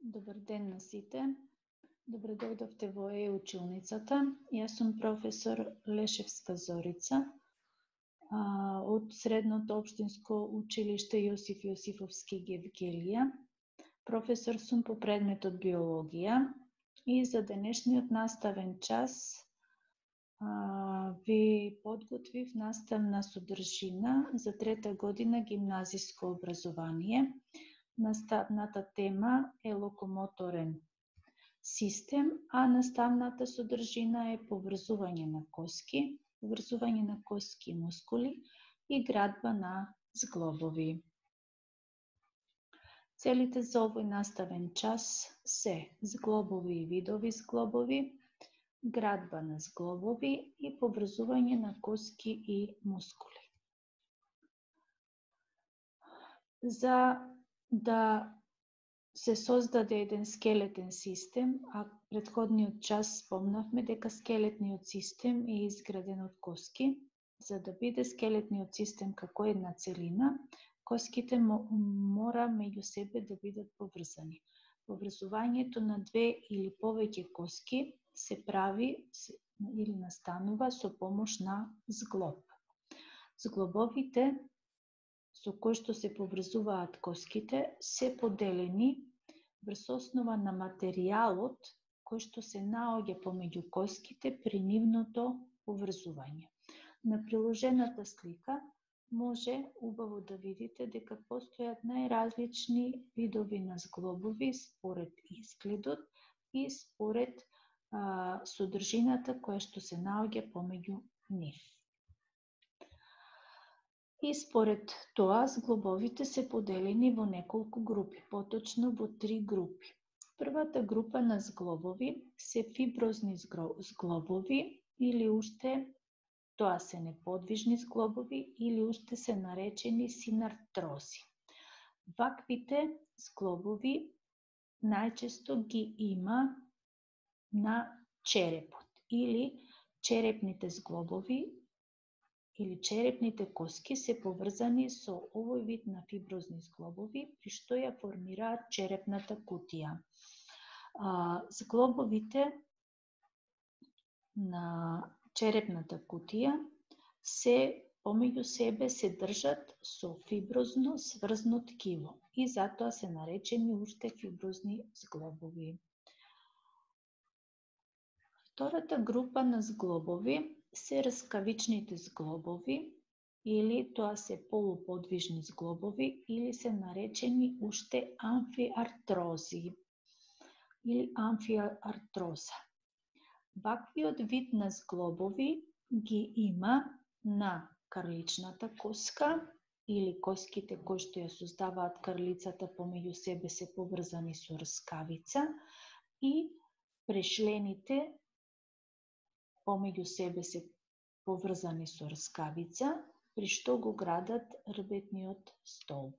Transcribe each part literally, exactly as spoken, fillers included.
Добар ден на сите. Добре дојдовте во е-училницата. Јас сум професор Лешевска Зорица од Средното општинско училиште Јосиф Јосифовски Гевгелија. Професор сум по предметот биологија и за денешниот наставен час а, ви подготвив наставна содржина за трета година гимназиско образование. Наставната тема е локомоторен систем, а наставната содржина е поврзување на коски, поврзување на коски и мускули и градба на зглобови. Целите за овој наставен час се зглобови и видови зглобови, градба на зглобови и поврзување на коски и мускули. За да се создаде еден скелетен систем, а претходниот час спомнавме дека скелетниот систем е изграден од коски. За да биде скелетниот систем како една целина, коските мора меѓу себе да бидат поврзани. Поврзувањето на две или повеќе коски се прави или настанува со помош на зглоб. Зглобовите со кои што се поврзуваат коските се поделени врз основа на материјалот кој што се наоѓа помеѓу коските при нивното поврзување. На приложената слика може убаво да видите дека постојат најразлични видови на зглобови според изгледот и според а, содржината која што се наоѓа помеѓу нив. И според тоа, зглобовите се поделени во неколку групи, поточно во три групи. Првата група на зглобови се фиброзни зглобови или уште тоа се неподвижни зглобови или уште се наречени синартрози. Ваквите зглобови најчесто ги има на черепот или черепните зглобови или черепните коски се поврзани со овој вид на фиброзни зглобови, при што ја формираат черепната кутија. А, зглобовите на черепната кутија се помеѓу себе се држат со фиброзно сврзно ткиво и затоа се наречени уште фиброзни зглобови. Втората група на зглобови се раскавичните зглобови, или тоа се полуподвижни зглобови, или се наречени уште амфиартрози, или амфиартроза. Ваквиот вид на зглобови ги има на карличната коска, или коските кои што ја создаваат карлицата помеѓу себе се поврзани со рскавица, и прешлените помеѓу себе се поврзани со рскавица, при што го градат рбетниот столб.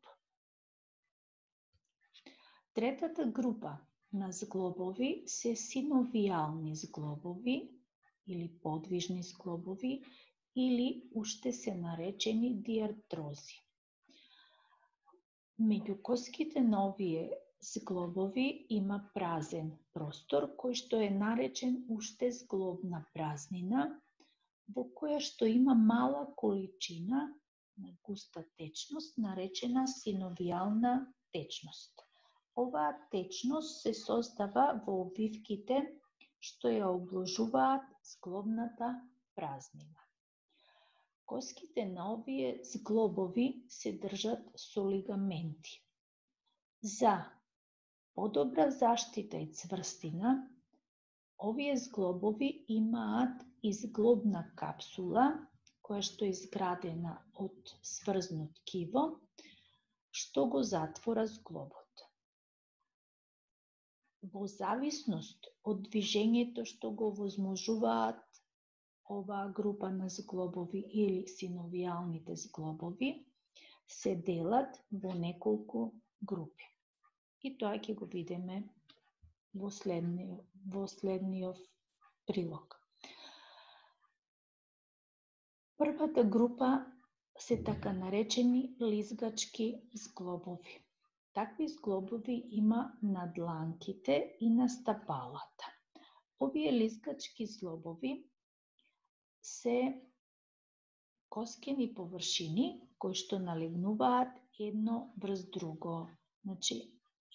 Третата група на зглобови се синовијални зглобови или подвижни зглобови или уште се наречени диартрози. Меѓу коските на овие зглобови има празен простор кој што е наречен уште зглобна празнина, во која што има мала количина на густа течност наречена синовијална течност. Оваа течност се создава во обвивките што ја обложуваат зглобната празнина. Коските на овие зглобови се држат со лигаменти. За подобра заштита и цврстина, овие зглобови имаат изглобна капсула, која што е изградена од сврзно ткиво, што го затвора зглобот. Во зависност од движењето што го возможуваат оваа група на зглобови или синовијалните зглобови, се делат во неколку групи. И тоа ќе го видиме во следниот, во следниот прилог. Првата група се така наречени лизгачки зглобови. Такви зглобови има на дланките и на стапалата. Овие лискачки зглобови се коскени површини кои што налегнуваат едно врз друго. Значи,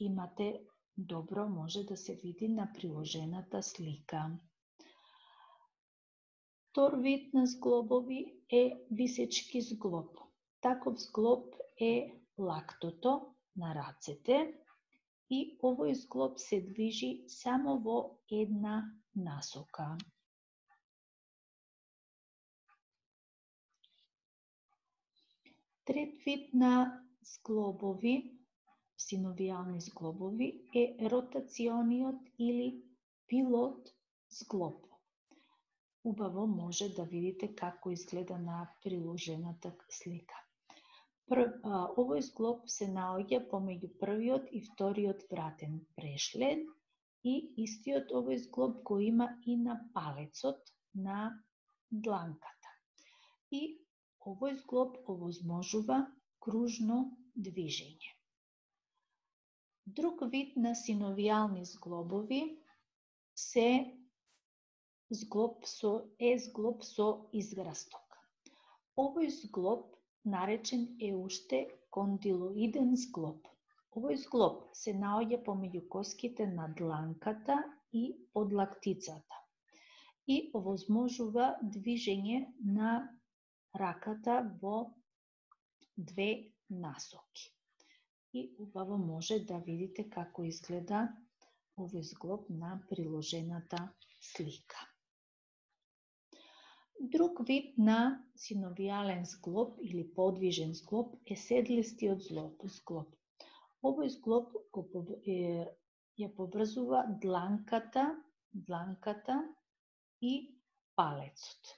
имате добро, може да се види на приложената слика. Втор вид на зглобови е висечки зглоб. Таков зглоб е лактото на рацете и овој зглоб се движи само во една насока. Трет вид на зглобови, синовијални зглобови, е ротациониот или пилот зглоб. Убаво може да видите како изгледа на приложената слика. Прв, а, овој зглоб се наоѓа помеѓу првиот и вториот вратен прешлед и истиот овој зглоб го има и на палецот на дланката. И овој зглоб овозможува кружно движење. Друг вид на синовијални зглобови се зглоб со е зглоб со израсток. Овој зглоб наречен е уште кондилоиден зглоб. Овој зглоб се наоѓа помеѓу коските на дланката и подлактицата и овозможува движење на раката во две насоки. И убаво може да видите како изгледа овој зглоб на приложената слика. Друг вид на синовијален зглоб или подвижен зглоб е седлистиот зглоб. Овој зглоб го е, ја поврзува дланката, дланката и палецот.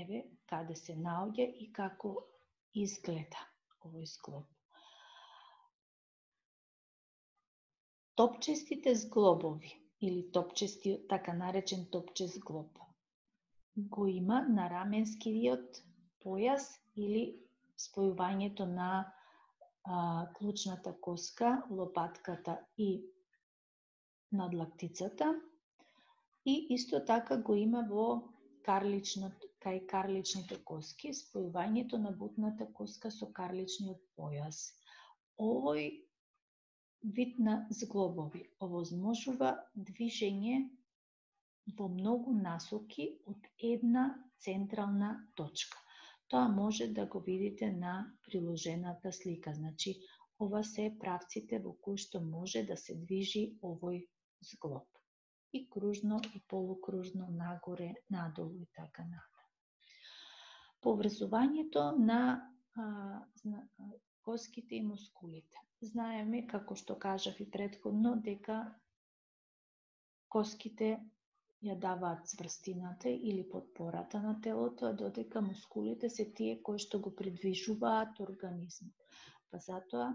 Еве каде се наоѓа и како изгледа овој зглоб. Топчестите зглобови или топчестиот, така наречен топчест зглоб, го има на раменскиот појас или спојувањето на а, клучната коска, лопатката и надлактицата, и исто така го има во карличното, кај карличните коски, спојувањето на бутната коска со карличниот појас. Овој вид на зглобови овозможува движење во многу насоки од една централна точка. Тоа може да го видите на приложената слика. Значи, ова се правците во кои што може да се движи овој зглоб. И кружно, и полукружно, нагоре, надолу и така натаму. Поврзувањето на а, коските и мускулите. Знаеме, како што кажав и претходно, дека коските ја даваат цврстината или потпората на телото, а додека мускулите се тие кои што го придвижуваат организмот. Па затоа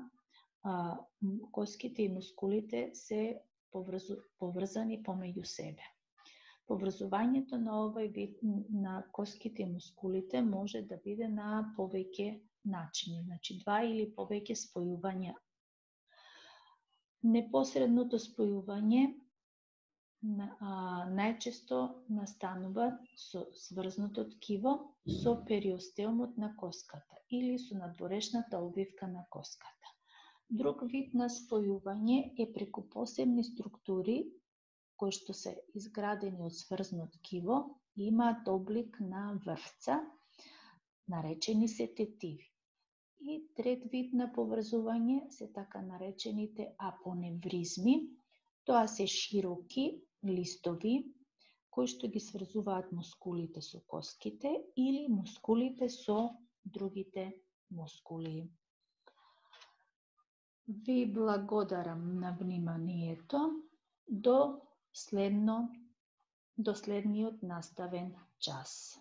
а, коските и мускулите се поврзу, поврзани помеѓу себе. Поврзувањето на овој вид на коските и мускулите може да биде на повеќе начини, значи два или повеќе спојувања. Непосредното спојување а, најчесто настанува со сврзното ткиво со периостеумот на коската или со надворешната обвивка на коската. Друг вид на спојување е преку посебни структури кои што се изградени од сврзно ткиво и имаат облик на врвца, наречени се тетиви. И трет вид на поврзување се така наречените апоневризми. Тоа се широки листови кои што ги сврзуваат мускулите со коските или мускулите со другите мускули. Ви благодарам на вниманието. До следно, до следниот наставен час.